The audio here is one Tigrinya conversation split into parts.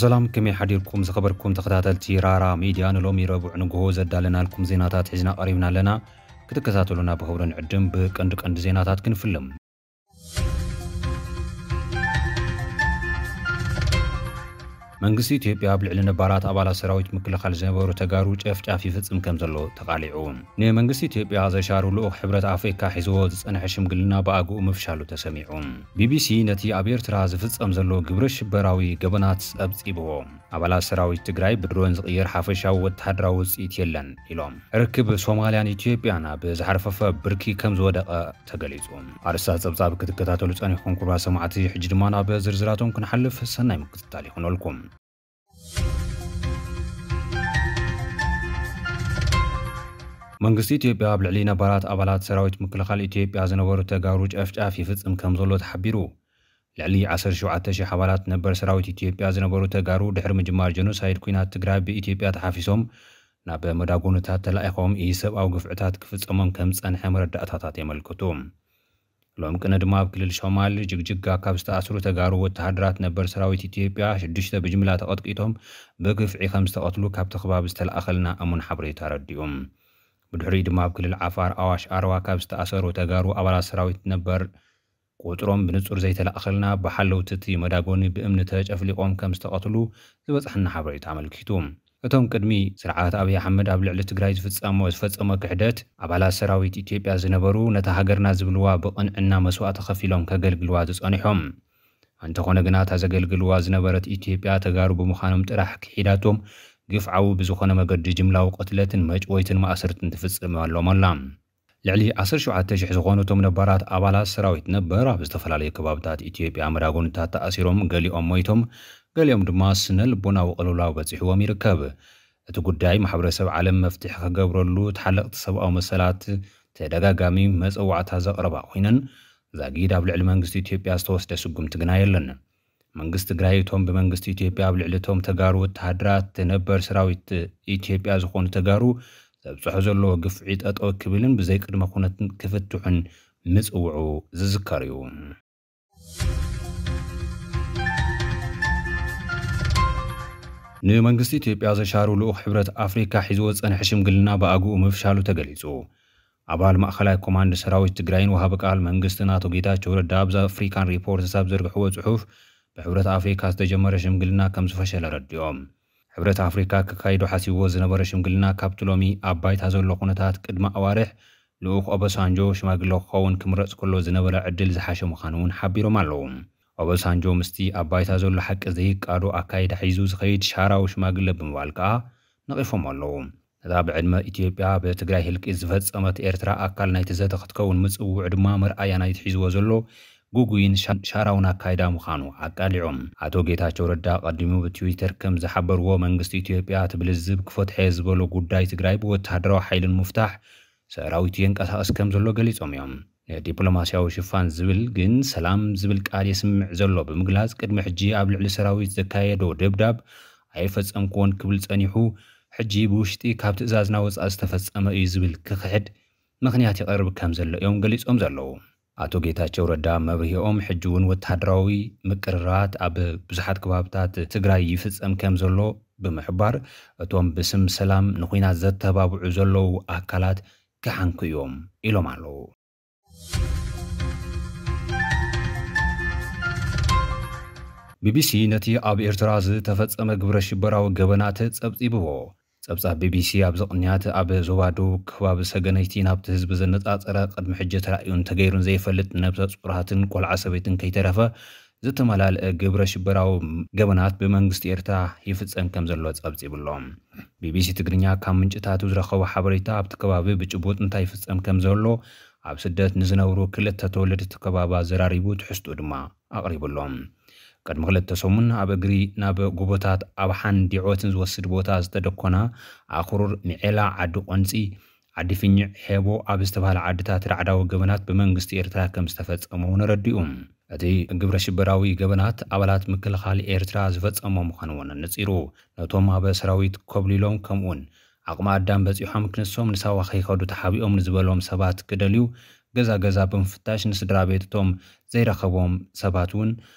ሰላም፣ ከመይ ሓዲርኩም ዝኸበርኩም ተኸታተልቲ ራራ ሚድያ? ንሎሚ ረቡዕ ንግሆ ዘዳለናልኩም ዜናታት ሒዝና ቀሪብና ኣለና። ክትከታተሉና ብኽብሪ ንዕድም። ብቀንዲ ቀንዲ ዜናታት ክንፍልም። መንግስቲ ኢትዮጵያ ኣብ ልዕሊ ነባራት ኣባላት ሰራዊት ምክልኻል ዝነበሩ ተጋሩ ጨፍጫፍ ይፍጽም ከም ዘሎ ተቓሊዑ። ንመንግስቲ ኢትዮጵያ ዘሻሩ ልኡኽ ሕብረት ኣፍሪካ ሒዝዎ ዝጸንሐ ሽምግልና ብኣግኡ ምፍሻሉ ተሰሚዑ። ቢቢሲ ነቲ ኣብ ኤርትራ ዝፍጸም ዘሎ ግብረ ሽበራዊ ገበናት ጸብጺብዎ። ኣባላት ሰራዊት ትግራይ ብድሮን ዝቕየር ሓፈሻዊ ወተሃደራዊ ውጽኢት የለን ኢሎም። ርክብ ሶማልያን ኢትዮጵያን ኣብ ዝሓርፈፈ ብርኪ ከም ዝወደቐ ተገሊጹ። ኣርስታት ጸብጻብ ክትከታተሉ ጸኒሕኩም ክቡራት ሰማዕቲ፣ ሕጂ ድማ ናብ ዝርዝራቶም ክንሓልፍ ሰናይ ምክትታል ይኹነልኩም። መንግስቲ ኢትዮጵያ ኣብ ልዕሊ ነባራት ኣባላት ሰራዊት ምክልኻል ኢትዮጵያ ዝነበሩ ተጋሩ ጨፍጫፍ ይፍጽም ከም ዘሎ ተሓቢሩ። ልዕሊ ዓሰርተ ሸውዓተ ሺሕ ኣባላት ነበር ሰራዊት ኢትዮጵያ ዝነበሩ ተጋሩ ድሕሪ ምጅማር ጀኖሳይድ ኲናት ትግራይ ብኢትዮጵያ ተሓፊሶም ናብ መዳጎንታት ተላኢኾም ኢሰብኣዊ ግፍዕታት ክፍጸሞም ከም ዝጸንሐ መረዳእታታት የመልክቱ። ሎም ቅነ ድማ ኣብ ክልል ሶማል ጅግጅጋ ካብ ዝተኣስሩ ተጋሩ ወተሃደራት ነበር ሰራዊት ኢትዮጵያ ሽዱሽተ ብጅምላ ተቐጥቂጦም ብግፍዒ ከም ዝተቐትሉ ካብቲ ከባቢ ዝተለኣኸልና እሙን ሓበሬታ ኣረዲኡ። ብድሕሪኡ ድማ ኣብ ክልል ዓፋር ኣዋሽ ኣርዋ ካብ ዝተኣሰሩ ተጋሩ ኣባላት ሰራዊት ነበር ቁጽሮም ብንጹር ዘይተለኣኸልና ብሓለውቲ እቲ መዳጎኒ ብእምኒ ተጨፍሊቖም ከም ዝተቐትሉ ዝበጽሐና ሓበሬታ ኣመልኪቱ። እቶም ቅድሚ ስርዓት ኣብይ ኣሕመድ ኣብ ልዕሊ ትግራይ ዝፍጸሞ ዝፈጸሞ ክሕደት ኣባላት ሰራዊት ኢትዮጵያ ዝነበሩ ነታ ሃገርና ዝብልዋ ብቕንዕና መስዋእቲ ከፊሎም ከገልግልዋ ዝጸኒሖም። እንተኾነ ግና እታ ዘገልግልዋ ዝነበረት ኢትዮጵያ ተጋሩ ብምዃኖም ጥራሕ ክሒዳቶም ግፍዓዊ ብዝኾነ መገዲ ጅምላዊ ቅትለትን መጭወይትን ማእሰርትን ትፍጽመሎም ኣላ። ልዕሊ ዓሰርተ ሸውዓተ ሺሕ ዝኾኑ እቶም ነባራት ኣባላት ሰራዊት ነበር ኣብ ዝተፈላለዩ ከባብታት ኢትዮጵያ መዳጎንታት ተኣሲሮም፣ ገሊኦም ሞይቶም፣ ገሊኦም ድማ ስነ ልቦናዊ ቅልውላው በጺሕዎም ይርከብ። እቲ ጉዳይ ማሕበረሰብ ዓለም መፍትሒ ክገብረሉ ተሓለቕቲ ሰብኣዊ መሰላት ተደጋጋሚ መጸዋዕታ ዘቕረባ ኮይነን፣ ዛጊድ ኣብ ልዕሊ መንግስቲ ኢትዮጵያ ዝተወስደ ስጉምቲ ግና የለን። መንግስቲ ትግራይ እቶም ብመንግስቲ ኢትዮጵያ ኣብ ልዕሊ እቶም ተጋሩ ወተሃደራት ነበር ሰራዊት ኢትዮጵያ ዝኾኑ ተጋሩ ዘብፅሖ ዘለዎ ግፍዒ ጠጠው ክብልን ብዘይ ቅድመ ኩነትን ክፍትሑን ምፅውዑ ዝዝከር እዩ። ንመንግስቲ ኢትዮጵያ ዘሻሩ ልኡኽ ሕብረት ኣፍሪካ ሒዝዎ ዝፀንሐ ሽምግልና ብኣግኡ ምፍሻሉ ተገሊፁ። ኣባል ማእኸላይ ኮማንድ ሰራዊት ትግራይን ወሃቢ ቃል መንግስትን ኣቶ ጌታቸው ረዳ ኣብ ዘ ኣፍሪካን ሪፖርትስ ኣብ ዘርግሕዎ ፅሑፍ፣ ብሕብረት ኣፍሪካ ዝተጀመረ ሽምግልና ከም ዝፈሸለ ኣረዲኦም። ሕብረት ኣፍሪካ ክካይዶ ሓሲብዎ ዝነበረ ሽምግልና ካብቲ ሎሚ ኣብ ባይታ ዘሎ ኩነታት ቅድሚ ኣዋርሕ ልኡኽ ኦባሳንጆ ሽማግለ ክኸውን ክምረፅ ከሎ ዝነበረ ዕድል ዝሓሸ ምዃኑ እውን ሓቢሮም ኣለዉ። ኦባሳንጆ ምስቲ ኣብ ባይታ ዘሎ ሓቂ ዘይቃዶ ኣካይዳ ሒዙ ዝኸይድ ሻራዊ ሽማግለ ብምባል ከኣ ነቒፎም ኣለዉ። ነታ ብዕድመ ኢትዮጵያ ብትግራይ ህልቂት ዝፈጸመት ኤርትራ ኣካል ናይቲ ዘተ ክትከውን ምጽውዑ ድማ መርኣያ ናይቲ ሒዝዎ ዘሎ ግጉይን ሻ-፣ ሻራውን ኣካይዳ ምዃኑ ኣቃሊዖም። ኣቶ ጌታቸው ረዳ ቀዲሙ ብትዊተር ከም ዝሓበርዎ፣ መንግስቲ ኢትዮጵያ እቲ ብልዝብ ክፈትሖ እየ ዝበሎ ጉዳይ ትግራይ ብወተሃደራዊ ሓይልን ምፍታሕ ሰራዊቱ የንቀሳቕስ ከም ዘሎ ገሊጾም እዮም። ንዲፕሎማስያዊ ሽፋን ዝብል ግን ሰላም ዝብል ቃል የስምዕ ዘሎ ብምግላጽ፣ ቅድሚ ሕጂ ኣብ ልዕሊ ሰራዊት ዘካየዶ ደብዳብ ኣይፈጸምኩዎን ክብል ጸኒሑ፣ ሕጂ ብውሽጢ ካብ ትእዛዝና ወጻኢ ዝተፈጸመ እዩ ዝብል ክኽሕድ ምኽንያት ይቐርብ ከም ዘሎ እዮም ገሊጾም ዘለዉ። ኣቶ ጌታቸው ረዳ መብርሂኦም፣ ሕጂ እውን ወተሃደራዊ ምቅርራት ኣብ ብዙሓት ከባብታት ትግራይ ይፍጸም ከም ዘሎ ብምሕባር፣ እቶም ብስም ሰላም ንኹናት ዘተባብዑ ዘለዉ ኣካላት ክሓንኩ እዮም ኢሎም ኣለዉ። ቢቢሲ ነቲ ኣብ ኤርትራ ዝተፈጸመ ግብረ ሽበራዊ ገበናት ጸብጺብዎ። ጸብጻብ ቢቢሲ ኣብዚ ቅንያት፣ ኣብ ዞባ ደቡብ ከባቢ ሰገነይቲ ናብቲ ህዝቢ ዘነጻጸረ ቅድሚ ሕጂ ተራእዩን ተገይሩን ዘይፈልጥ ነብሰ ጹራትን ቆልዓ ሰበይትን ከይተረፈ ዝተመላልአ ግብረ ሽበራዊ ገበናት ብመንግስቲ ኤርትራ ይፍጸም ከም ዘሎ ጸብጺቡ ኣሎ። ቢቢሲ ትግርኛ ካብ ምንጭታቱ ዝረኸቦ ሓበሬታ፣ ኣብቲ ከባቢ ብጭቡጥ እንታይ ይፍጸም ከም ዘሎ ኣብ ስደት ንዝነብሩ ክልተ ተወለድቲ ከባቢ ኣዘራሪቡ፣ ትሕዝትኡ ድማ ኣቕሪቡ ኣሎ። ቅድሚ ክልተ ሰሙን ኣብ እግሪ ናብ ጎቦታት ኣብሓን ዲዖትን ዝወስድ ቦታ ዝተደኮና ኣኽሩር ሚዔላ፣ ዓዲ ቆንጺ፣ ዓዲ ፍኝዕ፣ ሄቦ ኣብ ዝተባህላ ዓድታት ራዕዳዊ ገበናት ብመንግስቲ ኤርትራ ከም ዝተፈጸመ እውን ኣረዲኡ። እቲ ግብረ ሽበራዊ ገበናት ኣባላት ምክልኻል ኤርትራ ዝፈጸሞ ምዃኑ እውን ኣነጺሩ። ነቶም ኣብ ሰራዊት ኮብሊሎም፣ ከምኡውን ዓቕሚ ኣዳም በጺሖም ክንሶም ንሳዋ ከይኸዱ ተሓቢኦም ንዝበሎም ሰባት ክደልዩ ገዛ ገዛ ብምፍታሽ ንስድራ ቤት እቶም ዘይረኸቦም ሰባት እውን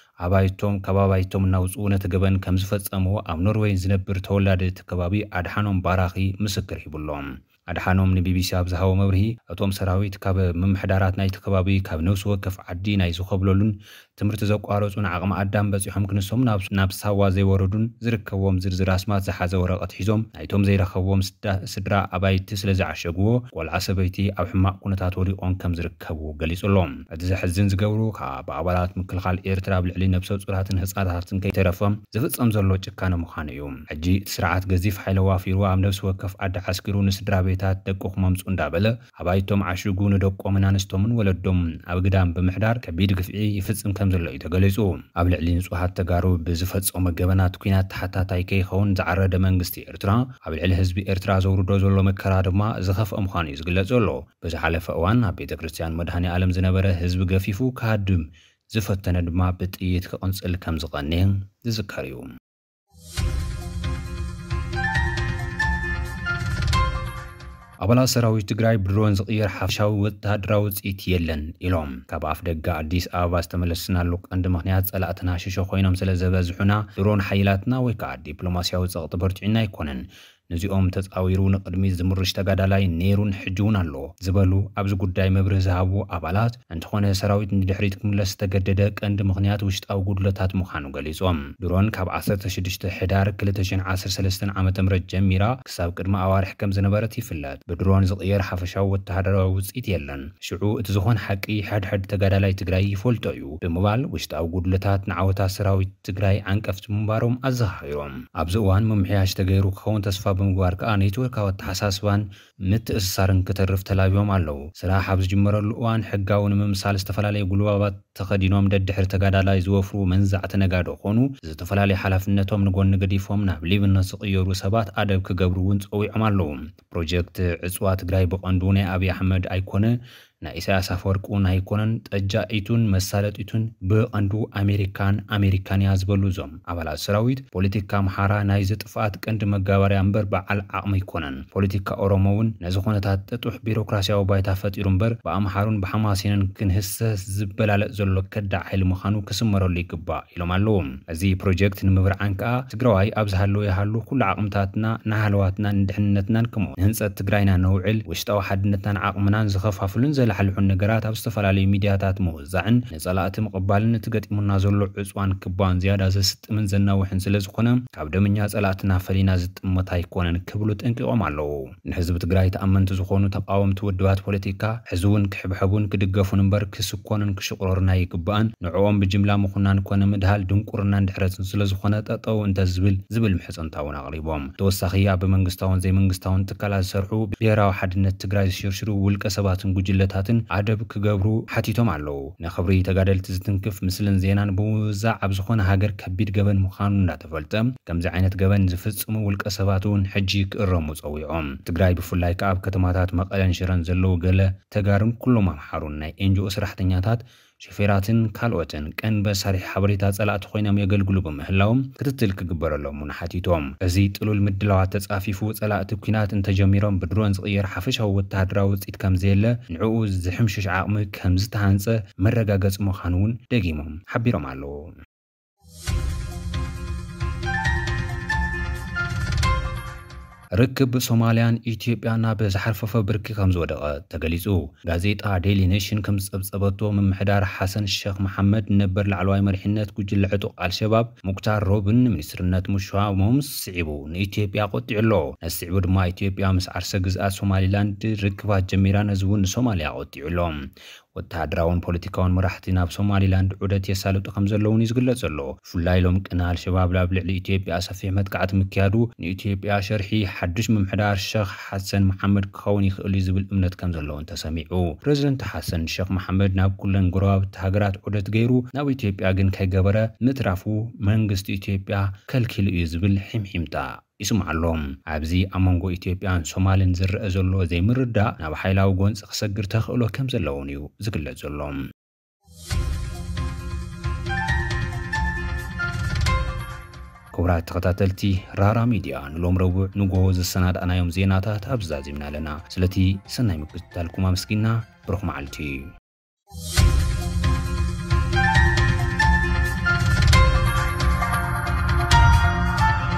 ኣባይቶም ካብ ኣባይቶም እናውፅኡ ነቲ ገበን ከም ዝፈጸምዎ ኣብ ኖርወይ ዝነብር ተወላዲ እቲ ከባቢ ኣድሓኖም ባራኺ ምስክር ሂቡሎም። ኣድሓኖም ንቢቢሲ ኣብ ዝሃቦ መብርሂ፣ እቶም ሰራዊት ካብ ምምሕዳራት ናይቲ ከባቢ ካብ ነፍሲ ወከፍ ዓዲ ናይ ዝኸብለሉን ትምህርቲ ዘቋረጹን ዓቕሚ ኣዳም በጺሖም ክንሶም ናብ ሳዋ ዘይወረዱን ዝርከብዎም ዝርዝር ኣስማት ዝሓዘ ወረቐት ሒዞም ናይቶም ዘይረኸብዎም ስድራ ኣባይቲ ስለ ዝዓሸግዎ ቆልዓ ሰበይቲ ኣብ ሕማቕ ኩነታት ወዲቖም ከም ዝርከቡ ገሊጹ ኣሎ። እቲ ዘሕዝን ዝገብሩ ከዓ ብኣባላት ምክልኻል ኤርትራ ኣብ ልዕሊ ነብሰ ጹራትን ህጻናታትን ከይተረፈ ዝፍጸም ዘሎ ጭካነ ምዃኑ እዩ። ሕጂ እቲ ስርዓት ገዚፍ ሓይሊ ዋፊሩ ኣብ ነብሲ ወከፍ ዓዲ ዓስኪሩ ንስድራ ቤታት ደቅኹም ኣምጹ እንዳበለ ኣባይቶም ዓሽጉ ንደቆምን ኣንስቶምን ወለዶም ኣብ ግዳም ብምሕዳር ከቢድ ግፍዒ ይፍጽም ከም ዘሎ እዩ ተገሊጹ። ኣብ ልዕሊ ንጹሃት ተጋሩ ብዝፈጸሞ ገበናት ኲናት ተሓታታይ ከይኸውን ዝዓረደ መንግስቲ ኤርትራ ኣብ ልዕሊ ህዝቢ ኤርትራ ዘውርዶ ዘሎ መከራ ድማ ዝኸፍአ ምዃኑ እዩ ዝግለጽ ዘሎ። ብዝሓለፈ እዋን ኣብ ቤተ ክርስቲያን መድሃኔ ዓለም ዝነበረ ህዝቢ ገፊፉ ክሃድም ዝፈተነ ድማ ብጥይት ክቕንጽል ከም ዝቐንየ ዝዝከር እዩ። ኣባላት ሰራዊት ትግራይ ብድሮን ዝቕየር ሓፈሻዊ ወተሃደራዊ ውፅኢት የለን ኢሎም። ካብ ኣፍ ደገ ኣዲስ ኣበባ ዝተመለስናሉ ቀንዲ ምኽንያት ፀላእትና ሽሾ ኮይኖም ስለ ዘበዝሑና ድሮን ሓይላትና ወይ ከዓ ዲፕሎማሲያዊ ፀቕጢ በርቲዑና ኣይኮነን። ነዚኦም ተፃዊሩ ንቕድሚት ዝምርሽ ተጋዳላይ ነይሩን ሕጂ እውን ኣሎ ዝበሉ ኣብዚ ጉዳይ መብርሂ ዝሃቡ ኣባላት፣ እንተኾነ ሰራዊት ንድሕሪት ክምለስ ዝተገደደ ቀንዲ ምኽንያት ውሽጣዊ ጉድለታት ምዃኑ ገሊጾም። ድሮን ካብ ዓሰርተ ሽዱሽተ ሕዳር ክልተ ሽሕን ዓሰርተ ሰለስተን ዓመተ ምህረት ጀሚራ ክሳብ ቅድሚ ኣዋርሕ ከም ዝነበረት ይፍለጥ። ብድሮን ዝቕየር ሓፈሻዊ ወተሃደራዊ ውጽኢት የለን። ሽዑ እቲ ዝኾነ ሓቂ ሕድሕድ ተጋዳላይ ትግራይ ይፈልጦ እዩ ብምባል ውሽጣዊ ጉድለታት ንዓወታት ሰራዊት ትግራይ ዓንቀፍቲ ምንባሮም ኣዘኻኺሮም። ኣብዚ እዋን ምምሕያሽ ተገይሩ ክኸውን ተስፋ ብምግባር ከኣ ኔትወርካዊ ኣተሓሳስባን ምትእስሳርን ክተርፍ ተላብዮም ኣለዉ። ስራሕ ኣብ ዝጅመረሉ እዋን ሕጋዊ ንምምሳል ዝተፈላለዩ ጉልባባት ተኸዲኖም ደድሕሪ ተጋዳላይ ዝወፍሩ መንዛዕቲ ነጋዶ ኮኑ ዝተፈላለዩ ሓላፍነቶም ንጎኒ ገዲፎም ናብ ሌብነት ዝቕየሩ ሰባት ኣደብ ክገብሩ እውን ጸዊዖም ኣለዉ። ፕሮጀክት ዕጽዋ ትግራይ ብቐንዱ ናይ ኣብይ ኣሕመድ ኣይኮነ ናይ ኢሳያስ ኣፈወርቂ እውን ኣይኮነን። ጠጃኢቱን መሳለጢቱን ብቐንዱ ኣሜሪካን ኣሜሪካን እያ ዝበሉ እዞም ኣባላት ሰራዊት፣ ፖለቲካ ኣምሓራ ናይዚ ጥፍኣት ቀንዲ መጋበርያ እምበር በዓል ዓቕሚ ኣይኮነን። ፖለቲካ ኦሮሞ እውን ነዚ ኩነታት ጥጡሕ ቢሮክራሲያዊ ባይታ ፈጢሩ እምበር ብኣምሓሩን ብሓማሴንን ክንህሰስ ዝበላለጥ ዘሎ ከዳዕ ሓይሊ ምዃኑ ክስመረሉ ይግባእ ኢሎም ኣለዉ። እዚ ፕሮጀክት ንምብርዓን ከኣ ትግራዋይ ኣብ ዝሃለወ ይሃሉ ኩሉ ዓቕምታትና ንሃለዋትናን ንድሕንነትናን ከምኡ ንህንፀት ትግራይና ነውዕል። ውሽጣዊ ሓድነትናን ዓቕምናን ዝኸፋፍሉን ዘላሕልሑን ነገራት ኣብ ዝተፈላለዩ ሚድያታት ምውዛዕን ንፀላእቲ ምቕባልን እቲ ገጢሙና ዘሎ ዕፅዋን ክባን ዝያዳ ዘስጥምን ዘናውሕን ስለ ዝኾነ ካብ ደመኛ ፀላእትና ፈሊና ዝጥመት ኣይኮነን ክብሉ ጠንቂቖም ኣለዉ። ንህዝቢ ትግራይ ተኣመንቲ ዝኾኑ ተቃወምቲ ውድባት ፖለቲካ ሕዚ እውን ክሕብሐቡን ክድገፉን እምበር ክስኮኑን ክሽቕረሩን ኣይግባእን። ንዕኦም ብጅምላ ምኹናን ኮነ ምድሃል ድንቁርናን ድሕረትን ስለ ዝኾነ ጠጠው እንተ ዝብል ዝብል ምሕጽንታ እውን ኣቕሪቦም። ተወሳኺ ኣብ መንግስታውን ዘይመንግስታውን ትካላት ዝሰርሑ ብሄራዊ ሓድነት ትግራይ ዝሽርሽሩ ውልቀ ሰባትን ጉጅለታትን ኣደብ ክገብሩ ሓቲቶም ኣለዉ። ንኽብሪ ተጋደልቲ ዝትንክፍ ምስልን ዜናን ብምውዛዕ ኣብ ዝኾነ ሃገር ከቢድ ገበን ምዃኑ እንዳተፈልጠ ከምዚ ዓይነት ገበን ዝፍጽሙ ውልቀ ሰባት እውን ሕጂ ክእረሙ ጸዊዖም። ትግራይ ብፍላይ ከኣ ኣብ ከተማታት መቐለን ሽረን ዘለዉ ገለ ተጋሩን ኩሎም ኣምሓሩን ናይ ኤንጂኦ ሰራሕተኛታት፣ ሾፌራትን ካልኦትን ቀንዲ መሳርሒ ሓበሬታ ጸላእቲ ኮይኖም የገልግሉ ብምህላዎም ክትትል ክግበረሎም እውን ሓቲቶም። እዚ ጥሉል ምድላዋት ተጻፊፉ ጸላእቲ ኲናት እንተጀሚሮም ብድሮን ዝቕየር ሓፈሻዊ ወተሃደራዊ ውጽኢት ከም ዘየለ ንዕኡ ዝሕምሽሽ ዓቕሚ ከም ዝተሃንጸ መረጋገጺ ምዃኑ እውን ደጊሞም ሓቢሮም ኣለዉ። ርክብ ሶማልያን ኢትዮጵያን ናብ ዝሓርፈፈ ብርኪ ከም ዝወደቐ ተገሊጹ። ጋዜጣ ዴይሊ ኔሽን ከም ዝጸብጸበቶ፣ ምምሕዳር ሓሰን ሸኽ መሓመድ ነበር ላዕለዋይ መሪሕነት ጉጅለ ዕጡቕ ኣልሸባብ ሙክታር ሮብን ንሚኒስትርነት ምሹሞም ስዒቡ ንኢትዮጵያ ቆጢዑ ኣሎ። ነዚ ስዒቡ ድማ ኢትዮጵያ ምስ ዓርሰ ግዝኣት ሶማሊላንድ ርክባት ጀሚራ፣ ነዚ እውን ንሶማልያ ቆጢዑ ኣሎ። ወተሃደራውን ፖለቲካውን መራሕቲ ናብ ሶማሊላንድ ዑደት የሳልጡ ከም ዘለውን እዩ ዝግለጽ ዘሎ። ብፍላይ ሎም ቅነ ኣልሸባብ ኣብ ልዕሊ ኢትዮጵያ ሰፊሕ መጥቃዕቲ ምክያዱ ንኢትዮጵያ ሸርሒ ሓዱሽ ምምሕዳር ሸኽ ሓሰን መሓመድ ክኸውን ይኽእል እዩ ዝብል እምነት ከም ዘለውን ተሰሚዑ። ፕረዚደንት ሓሰን ሸኽ መሓመድ ናብ ኩለን ጎረባብቲ ሃገራት ዑደት ገይሩ ናብ ኢትዮጵያ ግን ከይገበረ ምትራፉ መንግስቲ ኢትዮጵያ ከልኪሉ እዩ ዝብል ሒምሒምታ ይስማዕ ኣሎ። ኣብዚ ኣብ መንጎ ኢትዮጵያን ሶማልን ዝረአ ዘሎ ዘይምርዳእ ናብ ሓይላዊ ጎንፂ ክሰግር ተኽእሎ ከም ዘለውን እዩ ዝግለጽ ዘሎ። ክቡራት ተኸታተልቲ ራራ ሚድያ፣ ንሎም ረቡዕ ንጎሆ ዘሰናዳእናዮም ዜናታት ኣብዚ ዛዚምና ኣለና። ስለቲ ሰናይ ምክትታልኩም ኣመስጊና፣ ብሩኽ መዓልቲ።